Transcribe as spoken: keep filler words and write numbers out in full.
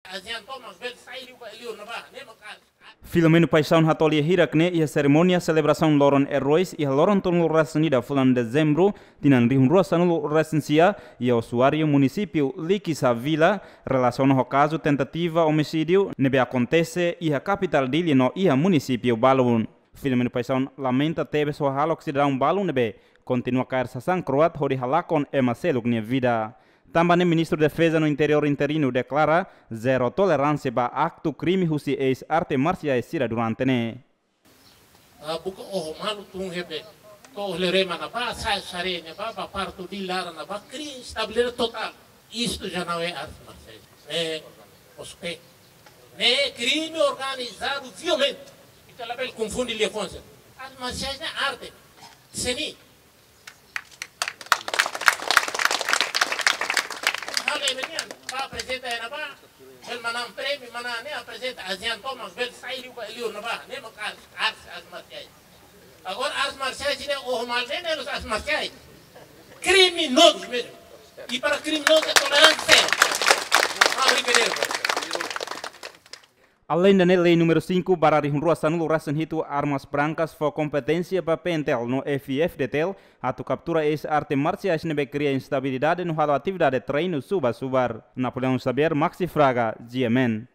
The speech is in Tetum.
ASEAN tomak bele sai liu ba liur ne'ebá, ne'e mak arte. Filomeno Paixão hato'o lia hirak ne'e iha serimónia selebrasaun Loron Eroi iha loron tolunulu-resin-ida fulan Dezembru, tinan rihun rua sanulu-resin-sia, iha usuáriu munisípiu Likisá Vila, relasiona ho kazu tentativa omisídiu ne'ebé akontese iha kapitál Dili no iha munisípiu balun. Filomeno Paixão lamenta tebes ho hahalok sidadaun balun ne'ebé kontinua kaer sasán kro'at hodi halakon ema seluk nia vida. Tanba ne'e Ministru Defeza no Interiór interinu deklara zero toleránsia ba aktu krime husi eis arte marsiais sira durante ne'e. Ah, buka oho malu tun hebe. To'o Lerema ne'ebá, sai Sare ne'ebá, ba Partu di Lara ne'ebá, krime estabilidade totál. Isto já não é arte marsiais. É, os pé. Ne'e krime organizadu violentu. Ita labele konfunde liafuan sira. Arte marsiais ne'e arte. Seni. Halo ema nian, ba aprezenta iha ne'ebá, bele manán prémiu, manán ne'e aprezenta ASEAN tomak bele sai liu ba liur ne'ebá, ne'e mak arte, arte, arte marsiais. Agora arte marsiais ne'e oho malu ne'e, ne'e artes marciais. Criminosos mesmo. E para criminoso é tolerante zero. Não há brincadeira. Aleinde ne'e, lei númeru cinco barra rihun rua sanulu-resin-hitu, armas brancas, fó kompeténsia ba PNTL no F-FDTL atu kaptura eis arte marsiais ne'ebé kria instabilidade no halo atividade treinu subar-subar. Napoleão Xavier, Maxi Fraga, G M N.